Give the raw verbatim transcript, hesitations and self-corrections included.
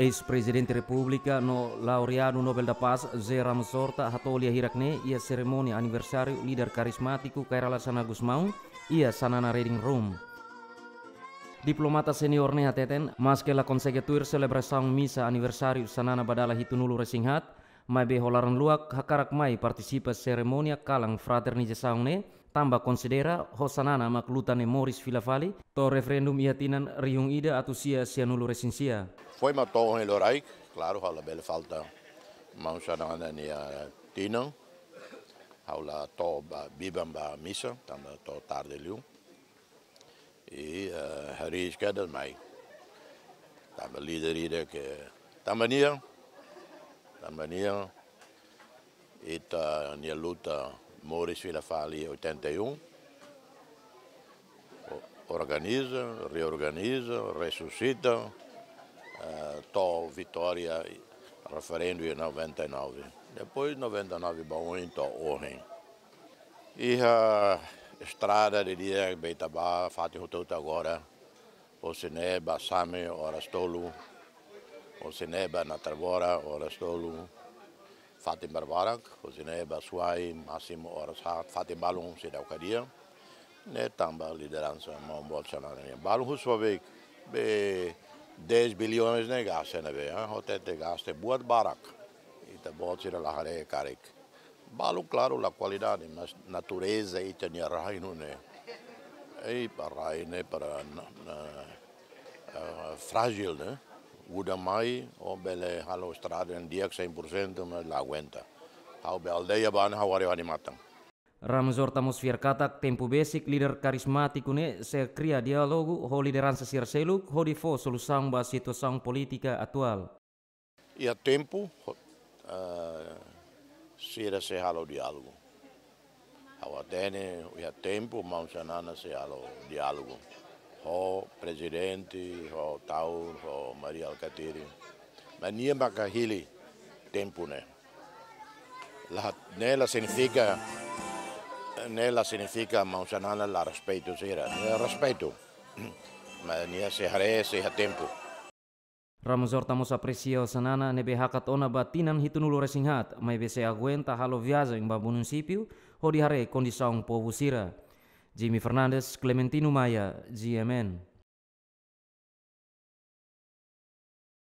Eis-Prezidente Repúblika no laureadu Nobel da Paz, José Ramos Horta, hato'o lia hirak-ne'e iha serimónia aniversáriu líder karizmátiku Kay Rala Xanana Gusmão, iha Xanana Reading Room. Diplomata seniór ne'e hateten, maske la konsege tuir selebrasaun misa aniversáriu Xanana ba dala hitunulu-resin-haat, maibé ho laran-luak hakarak mai partisipa serimónia kalan fraternizasaun ne'e, tanba konsidera ho Xanana mak luta ne'e moris fila fali, to'o referendum iha tinan rihun ida atus sia sianulu-resin-sia. Foin mak to'o ohin loraik, klaru, ha'u labele falta maun Xanana nia tinan, ha'u la to'o ba, biban ba misa, tanba to'o tarde liu. I, eh, hariis kedas mai. Tanba líder ida ke, tanba nia, tanba nia, ita-nia luta moris fila fali oitenta e um. O-, organiza, reorganiza, resusita, eh, to'o vitória, referendu iha noventa e nove. Depois noventa e nove ba oin to'o ohin. Iha estrada didi'ak be ita ba, fatin hotu-hotu agora. Hosi ne'e ba Same oras tolu. Hosi ne'e ba Natarvora oras tolu. Fatin barbarak, hosi ne'e ba Suai, másimu oras haat, fatin balun seidauk hadi'a. Ne'e tanba lideransa maun boot Xanana nian. Balun husu fali be dez bilhões ne'e gasta ne'ebé, ah, hotu-hotu gasta buat barak. Ita-boot sira la haree karik. Balun klaru la kualidade, mas natureza ita-nia rainu ne'e. Ei, ba rainu ne'e para na, na, eh, frájil, ne'e. Udan mai, ó bele halo estrada ne'e di'ak cem por cento, mas la aguenta. Ha'u be aldeia ba ne'e ha'u haree ho ha'u-nia matan. Ramos Horta mós fiar katak tempu besik líder karizmátiku ne'e sei kria diálogu ho lideransa sira seluk hodi fó solusaun ba situasaun polítika atuál. Iha tempu, eh, sira sei halo diálogu. Ha'u hatene, iha tempu, maun Xanana sei halo diálogu. Ho prezidente, ho Taur, ho Mari Alkatiri. Mas nia maka hili tempu ne'e. La, ne'e la signifika, ne'e la signifika maun Xanana la respeitu sira. Ne'e respeitu. Mas nia sei haree, sei iha tempu. Ramos Horta mós apresia Xanana ne'ebé hakat ona ba tinan hitunulu-resin-haat, maibé sei aguenta halo viajen ba munisípiu, hodi haree kondisaun povu sira. Jimmy Fernandes, Clementino Maia, G M N.